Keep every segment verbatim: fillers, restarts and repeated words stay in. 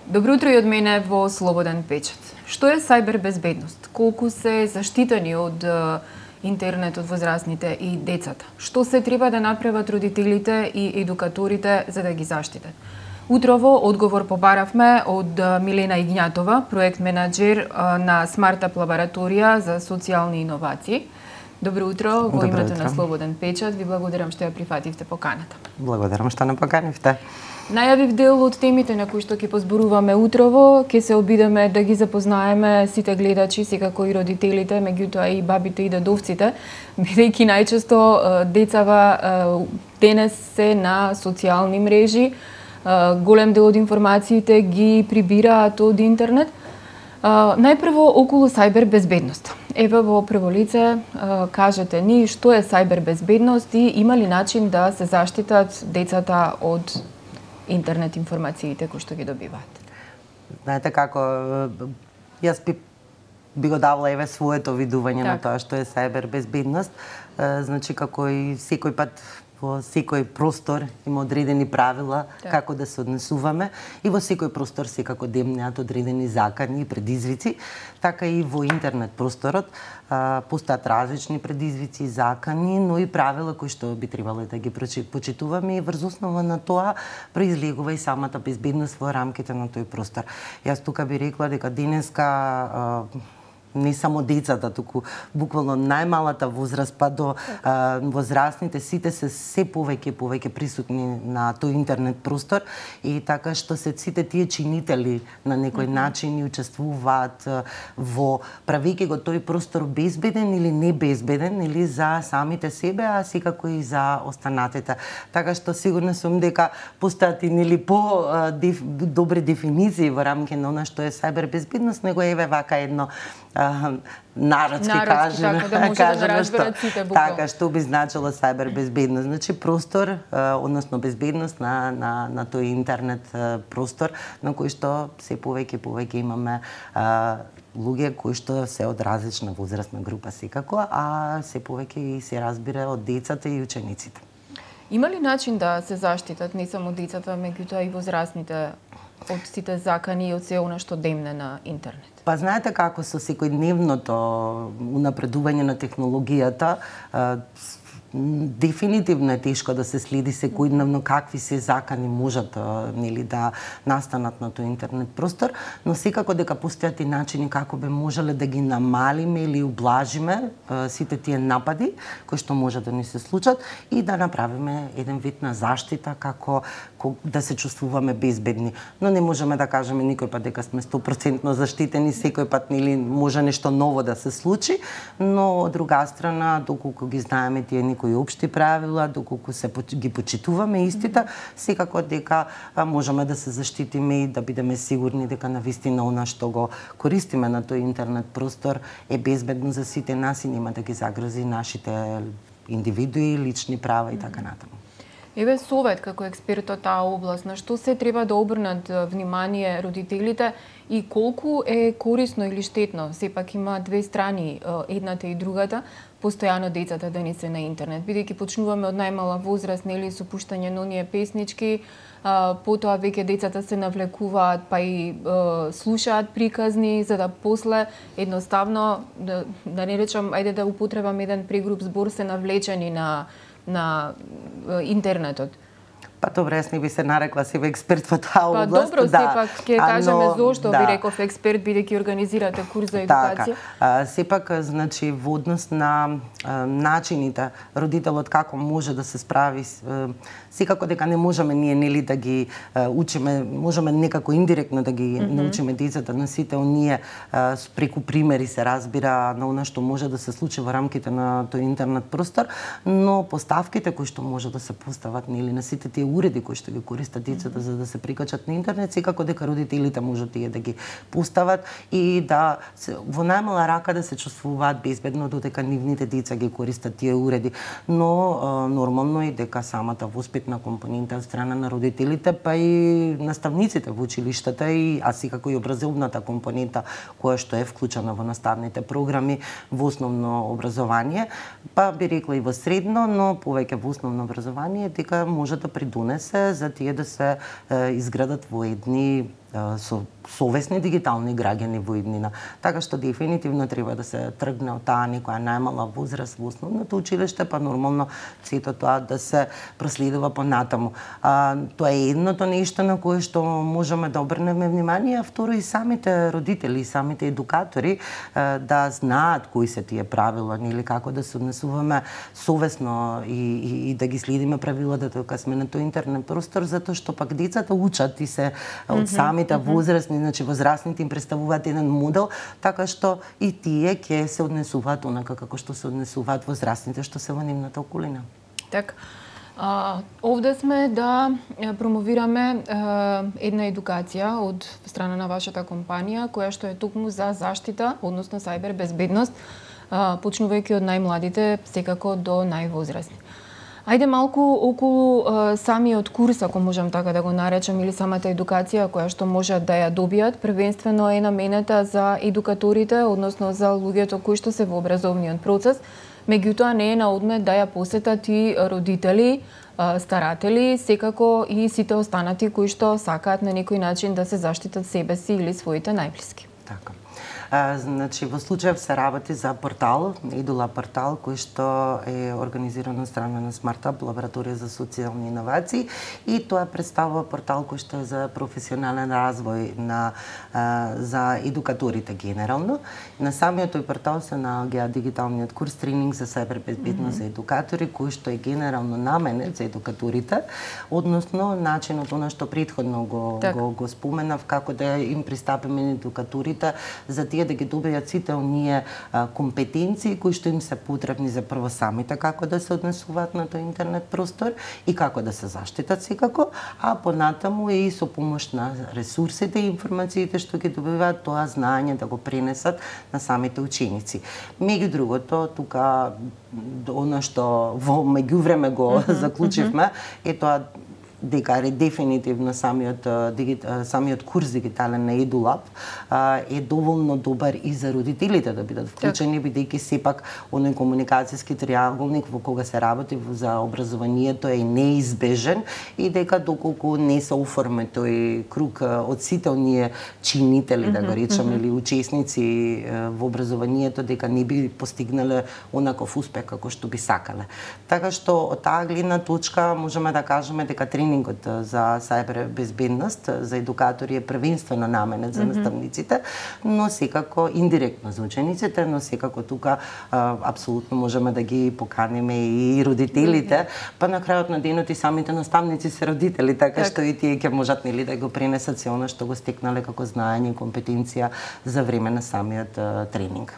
Добро утро и од мене во Слободен печат. Што е сајбер безбедност? Колку се заштитени од интернетот возрастните и децата? Што се треба да направат родителите и едукаторите за да ги заштитат? Утрово одговор побаравме од Милена Игњатова, проект менаџер на Смартап лабораторија за социјални иновации. Добро утро, во името на Слободен печат. Ви благодарам што ја прифативте поканата. Благодарам што не поканивте. Најавив дел од темите на кои што ќе позборуваме утрово, ќе се обидеме да ги запознаеме сите гледачи, секако и родителите, меѓутоа и бабите и дедовците, бидејќи најчесто децава денес се на социјални мрежи, голем дел од информациите ги прибираат од интернет. Најпрво околу сајбер безбедност. Еве во прво лице кажете ни што е сајбер безбедност и има ли начин да се заштитат децата од интернет информациите кои што ги добиваат? Знаете како, јас би, би го давала еве своето видување так на тоа што е сајбер безбедност. Значи како и секој пат во секој простор има одредени правила так како да се однесуваме и во секој простор секако демнеат одредени закани и предизвици, така и во интернет просторот а, постојат различни предизвици и закани, но и правила кои што би требало да ги почитуваме и врз основа на тоа произлегува и самата безбедност во рамките на тој простор. Јас тука би рекла дека денеска а, не само децата, туку буквално најмалата возраст па до а, возрастните, сите се се повеќе и повеќе присутни на тој интернет простор и така што се сите тие чинители на некој mm -hmm. начин и учествуваат во правејќи го тој простор безбеден или не безбеден или за самите себе, а секако и за останатите. Така што сигурно сум дека постојат и нели по а, деф, добри дефиниции во рамки на она што е сајбер безбедност, него еве вака едно народски кажеме, така, да кажеме да што, сите, така што би значило сајбер безбедност. Значи простор, односно безбедност на, на, на тој интернет простор, на кој што се повеќе и повеќе имаме а, луѓе кои што се од различна возрастна група секако, а се повеќе и се разбира од децата и учениците. Има ли начин да се заштитат не само децата, меѓутоа и возрастните од сите закани и од се она што демне на интернет? Па знаете како со секојдневното унапредување на технологијата, дефинитивно е тешко да се следи секојдневно какви се закани можат нели да настанат на тој интернет простор, но секако дека постојат и начини како би можеле да ги намалиме или ублажиме сите тие напади кои што може да ни се случат и да направиме еден вид на заштита како да се чувствуваме безбедни. Но не можеме да кажеме никој пат дека сме сто проценти заштитени, секој пат нели може нешто ново да се случи, но од друга страна доколку ги знаеме тие некои општи правила, доколку се ги почитуваме истите, секако дека можеме да се заштитиме и да бидеме сигурни дека навистина она што го користиме на тој интернет простор е безбедно за сите нас и нема да ги загрози нашите индивидуи, лични права и така натаму. Еве совет како експерт од таа област, на што се треба да обрнат внимание родителите и колку е корисно или штетно, сепак има две страни, едната и другата, постојано децата да не се на интернет, бидејќи почнуваме од најмала возраст, нели, со пуштање на оние песнички, а, потоа веќе децата се навлекуваат, па и а, слушаат приказни, за да после едноставно, да, да не речам, ајде да употребам еден прегруп збор, се навлечени на на интернетот. Па добре, јас не би се нарекла себе експерт во таа област. Па добро, да. Сепак ќе кажеме зошто да. Ви реков експерт, бидејќи организирате курс за едукација. Така, сепак, значи, во однос на а, начините родителот како може да се справи, а, секако дека не можеме ние нели да ги а, учиме, можеме некако индиректно да ги mm -hmm. научиме децата на сите оние а, преку примери се разбира на она што може да се случи во рамките на тој интернет простор, но поставките кои што може да се постават нели на сите тие уреди кои што ги користат децата за да се прикачат на интернет, секако дека родителите можат тие да ги постават и да се, во најмала рака да се чувствуваат безбедно додека нивните деца ги користат тие уреди. Но а, нормално е дека самата воспитна компонента од страна на родителите, па и наставниците во училиштата и а секако и образовната компонента која што е вклучена во наставните програми во основно образование, па би рекла и во средно, но повеќе во основно образование, дека може да придонесе за тие да се е, изградат во едни со совесни дигитални граѓани во иднина. Така што дефинитивно треба да се тргне од таа некоја најмала возраст во основното училиште, па нормално сето тоа да се проследува понатаму. А, тоа е едното нешто на кое што можеме да обрнеме внимание, а второ и самите родители, и самите едукатори а, да знаат кои се тие правила, или како да се однесуваме совесно и, и, и да ги следиме правилата кога сме на тој интернет простор, затоа што пак децата учат и се од самите возрастни, значи возрастните им представуваат еден модел, така што и тие ќе се однесуваат онака како што се однесуваат возрастните што се во нивната околина. Така. А, овде сме да промовираме а, една едукација од страна на вашата компанија, која што е токму за заштита, односно сајбер безбедност, а, почнувајќи од најмладите, секако до највозрастни. Ајде малку околу а, самиот курс, ако можам така да го наречам, или самата едукација која што можат да ја добијат, првенствено е наменета за едукаторите, односно за луѓето кои што се во образовниот процес, меѓутоа не е на одмет да ја посетат и родители, старатели, секако и сите останати кои што сакаат на некој начин да се заштитат себе си или своите најблиски. Така. А, значи, во случајов се работи за портал, Едула портал, кој што е организиран од страна на SmartUp, лабораторија за социјални иновации, и тоа представува портал кој што е за професионален развој на а, за едукаторите генерално. На самиот тој портал се наоѓа дигиталниот курс тренинг за сајбер безбедност mm -hmm. за едукатори, кој што е генерално наменет за едукаторите, односно начинот она што претходно го так. го, го споменав, како да им пристапиме на едукаторите за тие да ги добијат сите оние а, компетенции кои што им се потребни за прво самите како да се однесуваат на тој интернет простор и како да се заштитат секако, а понатаму и со помош на ресурсите и информациите што ги добиваат, тоа знаење да го пренесат на самите ученици. Меѓу другото, тука она што во меѓувреме го mm -hmm, заклучивме, е тоа дека е дефинитивно самиот, самиот курс дигитален на EduLab е доволно добар и за родителите да бидат вклучени, бидејќи сепак оној комуникацијски триаголник во кога се работи за образованието е неизбежен и дека доколку не се оформи тој круг од сите оние чинители, да го речеме, или учесници во образованието, дека не би постигнале онаков успех како што би сакале. Така што од таа гледна точка можеме да кажеме дека тренингот за сајбер безбедност за едукатори е првенствено наменет за наставниците, но секако индиректно за учениците, но секако тука а, апсолутно можеме да ги поканиме и родителите, па на крајот на денот и самите наставници се родители, така так. што и тие ќе можат нели да го пренесат се она што го стекнале како знаење и компетенција за време на самиот а, тренинг.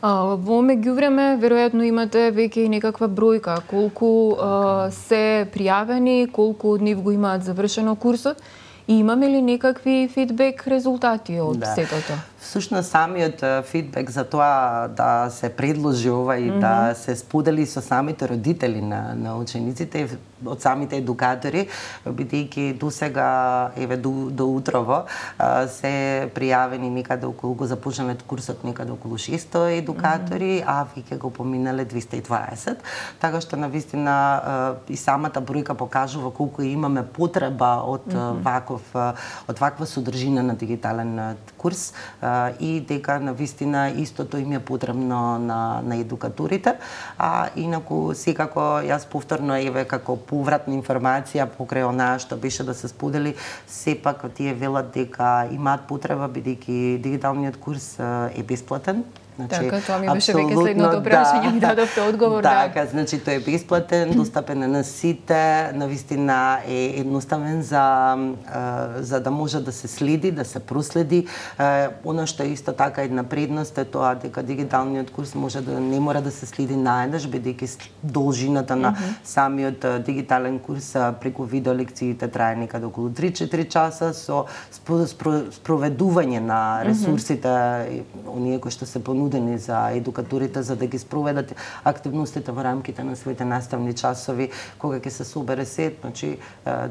А, во меѓувреме, веројатно имате веќе и некаква бројка, колку а, се пријавени, колку од нив го имаат завршено курсот, и имаме ли некакви фидбек резултати од да. сетото? Всушност самиот фидбек за тоа да се предложи ова и mm -hmm. да се сподели со самите родители на, на учениците, од самите едукатори, бидејќи досега, еве до, до утрово, се пријавени некаде околу, го започнале курсот некаде околу шесто едукатори, mm -hmm. а веќе го поминале двеста и дваесет. Така што навистина и самата бројка покажува колку имаме потреба од mm -hmm. ваков, од ваква содржина на дигитален курс, и дека навистина истото им е потребно на, на едукаторите. А инаку секако јас повторно еве како повратна информација покрај онаа што беше да се сподели, сепак тие велат дека имаат потреба бидејќи дигиталниот курс е бесплатен. Значи, така, тоа ми беше веќе следното прашање, ми дадовте одговор. Така, да. Значи тој е бесплатен, достапен на сите, навистина е едноставен за за да може да се следи, да се проследи. Она што е исто така една предност е тоа дека дигиталниот курс може да не мора да се следи наеднаш, бидејќи должината на mm -hmm. самиот дигитален курс преку видеолекциите трае некаде околу три-четири часа со спроведување на ресурсите, mm -hmm. оние кои што се понудени за едукаторите за да ги спроведат активностите во рамките на своите наставни часови, кога ќе се собере сет, значи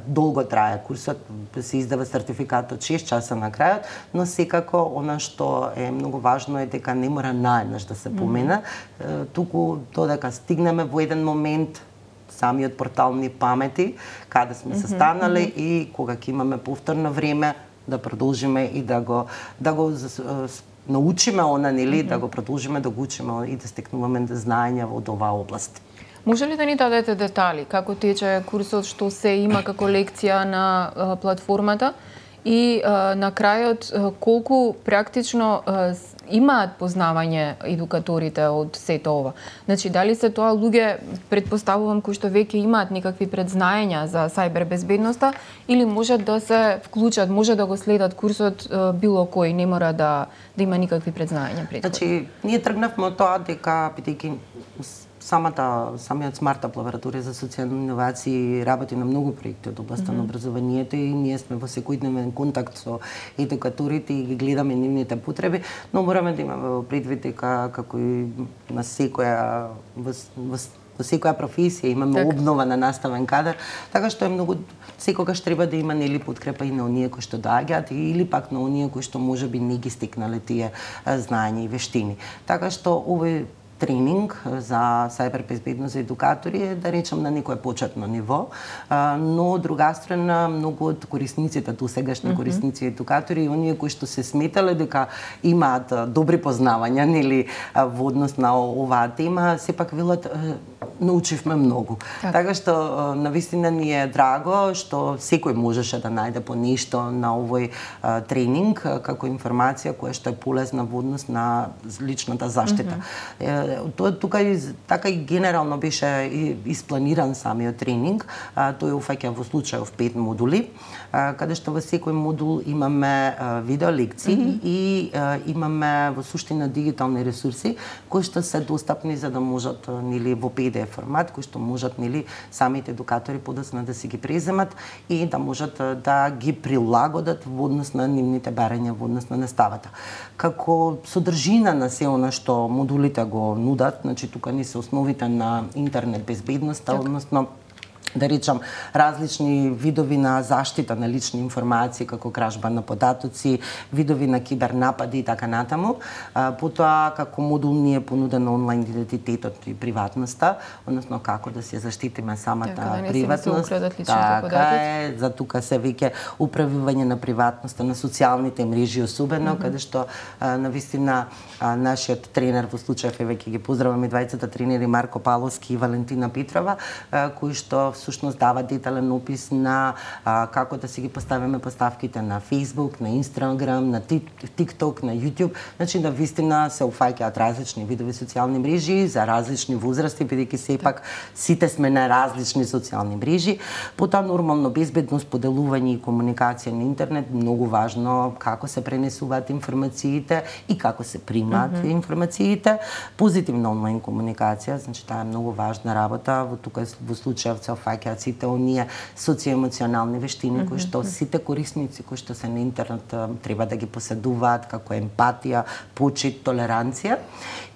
долго трае курсот, се издава сертификат од шест часа на крајот, но секако она што е многу важно е дека не мора наеднаш да се помена, mm -hmm. туку додека стигнеме во еден момент самиот портал ни памети каде сме се станале mm -hmm. и кога ќе имаме повторно време, да продолжиме и да го да го научиме она, нели, mm -hmm. да го продолжиме да го учиме и да стекнуваме знаења во оваа област. Може ли да ни дадете детали како тече курсот, што се има како лекција на а, платформата и а, на крајот а, колку практично а, имаат познавање едукаторите од сето ова? Значи, дали се тоа луѓе, предпоставувам, кои што веќе имаат некакви предзнаења за сајбер безбедноста, или можат да се вклучат, може да го следат курсот било кој, не мора да, да има никакви предзнаења предходно? Значи, ние тргнавме од тоа дека, бидејќи самата, самиот Смартап лабораторија за социјални иновации работи на многу проекти од областта mm -hmm. на образованието и ние сме во секојдневен контакт со едукаторите и ги гледаме нивните потреби, но мораме да имаме предвид дека како и на секоја во, во, во секоја професија имаме так. обнова на наставен кадар, така што е многу секогаш треба да има нели подкрепа и на оние кои што доаѓаат или пак на оние кои што можеби не ги стекнале тие знаења и вештини. Така што овој тренинг за сајбер безбедност за едукатори е, да речем, на некое почетно ниво, но од друга страна многу од корисниците, досегашни mm -hmm. корисници едукатори и оние кои што се сметале дека имаат добри познавања нели во однос на оваа тема, сепак велат научивме многу. Так. Така што навистина ни е драго што секој можеше да најде по нешто на овој а, тренинг како информација која што е полезна во однос на личната заштита. Mm -hmm. е, тоа тука и така и генерално беше испланиран самиот тренинг. А, тој уфаќа во случајов пет модули, а, каде што во секој модул имаме а, видео лекции mm -hmm. и а, имаме во суштина дигитални ресурси кои што се достапни за да можат нели во пи ди еф формат, кои што можат нели самите едукатори подоцна да си ги преземат и да можат да ги прилагодат во однос на нивните барања во однос на наставата. Како содржина на се она што модулите го нудат, значи тука не се основите на интернет безбедноста, односно да речам, различни видови на заштита на лични информации, како кражба на податоци, видови на кибернапади и така натаму. А, потоа, како модул ни е понудено онлайн идентитетот и приватноста, односно како да се заштитиме самата така, да приватност. Така е, за тука се веќе управување на приватноста на социјалните мрежи особено, mm -hmm. каде што а, навистина а, нашиот тренер во случајов е веќе ги поздраваме двајцата тренери Марко Паловски и Валентина Петрова, а, кои што всушност дава детален опис на а, како да си ги поставиме поставките на Facebook, на Instagram, на TikTok, на YouTube. Значи, да вистина се уфаќаат различни видови социјални мрежи за различни возрасти, бидејќи сепак сите сме на различни социјални мрежи. Потоа нормално безбедност, поделување и комуникација на интернет, многу важно како се пренесуваат информациите и како се примаат mm -hmm. информациите. Позитивна онлайн комуникација, значи таа е многу важна работа. Во тука во случајов се фаќаат сите оние социјоемоционални вештини mm -hmm. кои што сите корисници кои што се на интернет треба да ги поседуваат, како емпатија, почит, толеранција.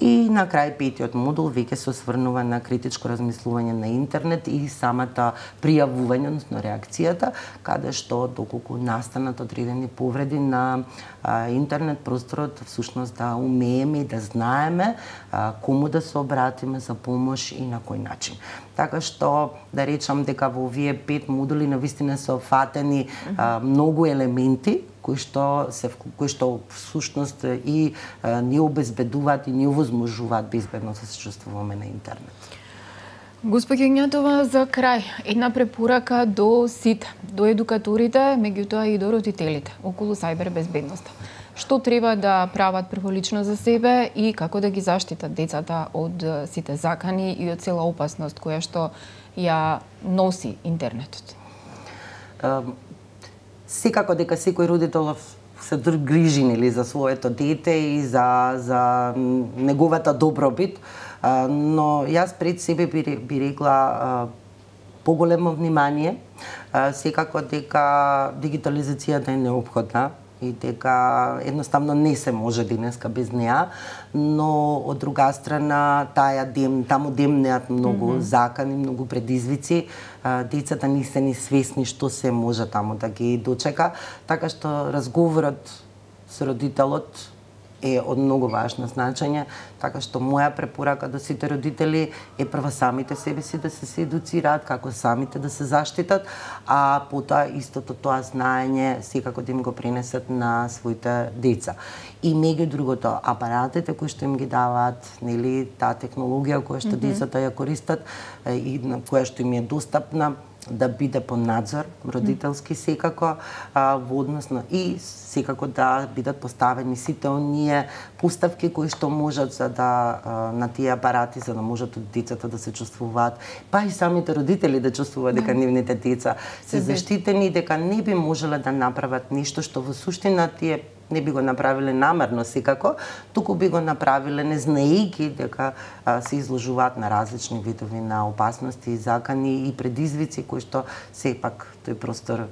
И на крај петиот модул веќе се осврнува на критичко размислување на интернет и самата пријавување, односно реакцијата, каде што доколку настанат одредени повреди на а, интернет просторот, всушност да умееме и да знаеме а, кому да се обратиме за помош и на кој начин. Така што да речам дека во овие пет модули навистина се офатени а, многу елементи кои што се кои што всушност и а, ни обезбедуваат и ни овозможуваат безбедно да се чувствуваме на интернет. Госпоѓа Игнатова, за крај, една препорака до сите, до едукаторите, меѓутоа и до родителите околу сајбер безбедноста. Што треба да прават прволично за себе и како да ги заштитат децата од сите закани и од цела опасност која што ја носи интернетот? Uh, секако дека секој родител се грижи нели за своето дете и за за неговата добробит, uh, но јас пред себе би, би рекла uh, поголемо внимание, uh, секако дека дигитализацијата е неопходна и дека едноставно не се може денеска без неа, но од друга страна таја дем, таму демнеат многу mm -hmm. закани, многу предизвици, децата не се ни свесни што се може таму да ги дочека, така што разговорот со родителот е од многу важно значење, така што моја препорака до сите родители е прво самите себе си да се се едуцираат, како самите да се заштитат, а потоа истото тоа знаење секако да им го пренесат на своите деца. И меѓу другото, апаратите кои што им ги даваат, нели, таа технологија која што mm -hmm. децата ја користат и на која што им е достапна, да биде по надзор родителски секако, а, во однос на и секако да бидат поставени сите оние поставки кои што можат за да а, на тие апарати за да можат децата да се чувствуваат, па и самите родители да чувствуваат дека нивните деца се заштитени, дека не би можеле да направат нешто што во суштина тие не би го направиле намерно секако, туку би го направиле не знаејќи дека а, се изложуваат на различни видови на опасности и закани и предизвици кои што сепак тој простор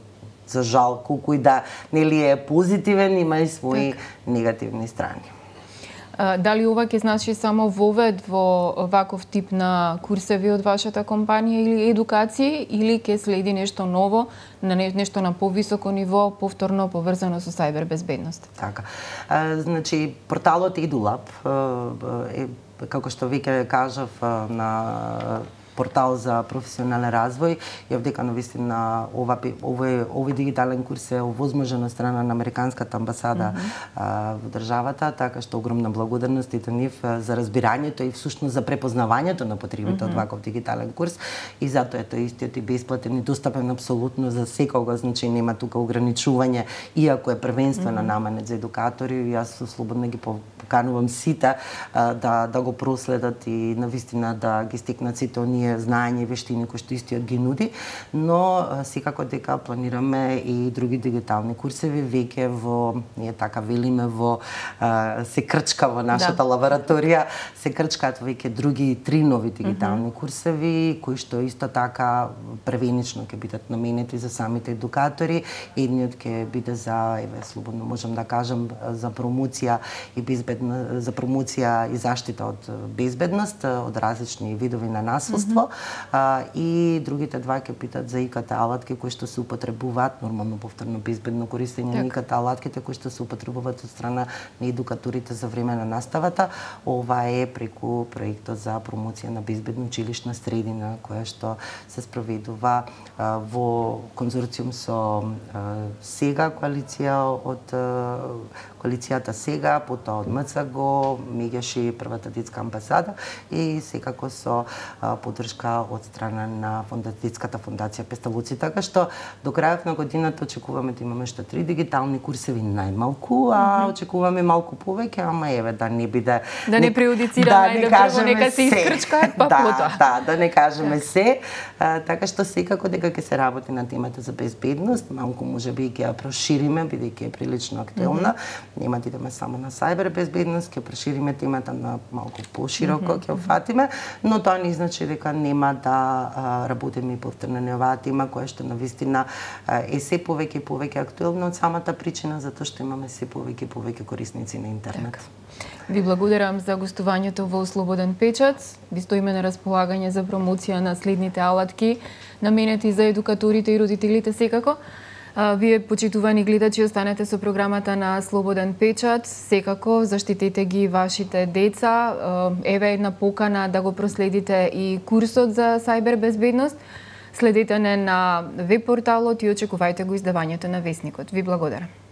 за жал колку и да нели е позитивен, има и своји так. негативни страни. А, дали ова ќе значи само вовед во ваков тип на курсеви од вашата компанија или едукација, или ќе следи нешто ново, на нешто на повисоко ниво, повторно поврзано со сајбер безбедност? Така. А, значи, порталот EduLab е, како што веќе кажав, на портал за професионален развој, ја дека навистина ова овој овој дигитален курс е овозможен од страна на американската амбасада mm -hmm. а, во државата, така што огромна благодарност и до нив за разбирањето и всушност за препознавањето на потребите mm -hmm. од ваков дигитален курс, и затоа е тој истиот и бесплатен и достапен апсолутно за секого, значи нема тука ограничување, иако е првенствено mm -hmm. наменет за едукатори. Јас слободно ги поканувам сите а, да да го проследат и навистина да ги стекнат сите оние знаење и вештини кои што истиот ги нуди, но секако дека планираме и други дигитални курсеви веќе во, ние така велиме, во а, се крчка во нашата да. лабораторија, се крчкаат веќе други три нови дигитални mm -hmm. курсеви кои што исто така превенично ќе бидат наменети за самите едукатори. Едниот ќе биде за, еве, слободно можам да кажам, за промоција и безбедна, за промоција и заштита од безбедност, од различни видови на насилство. Mm -hmm. А, и другите два ќе питат за ИКТ алатки кои што се употребуваат, нормално повторно безбедно користење на ИКТ алатките кои што се употребуваат од страна на едукаторите за време на наставата. Ова е преку проектот за промоција на безбедна училишна средина која што се спроведува а, во конзорциум со а, СЕГА коалиција од а, коалицијата СЕГА, потоа од МЦГО, Мегеши, првата детска амбасада и секако со а, поддршка од страна на фонда, детската фондација Песталуци, така што до крајот на годината очекуваме да имаме што три дигитални курсеви најмалку, а mm -hmm. очекуваме малку повеќе, ама еве да не биде да не преюдицираме да, да прво нека се искрчкаат па да, потоа. Да, да не кажеме се, а, така што секако дека ќе се работи на темата за безбедност, малку можеби ќе ја прошириме бидејќи е прилично актуелна. Mm -hmm. Нема да идеме само на сајбер безбедност, ќе прошириме темата на малку пошироко, ќе mm -hmm. офатиме, но тоа не значи дека нема да а, работиме и повторно на оваа тема која што навистина е се повеќе и повеќе актуелна од самата причина затоа што имаме се повеќе и повеќе корисници на интернет. Так. Ви благодарам за гостувањето во Слободен печат. Ви стоиме на располагање за промоција на следните алатки наменети за едукаторите и родителите секако. Вие, почитувани гледачи, останете со програмата на Слободен печат. Секако, заштитете ги вашите деца. Еве една покана да го проследите и курсот за сајбер безбедност. Следете не на веб порталот и очекувајте го издавањето на Весникот. Ви благодарам.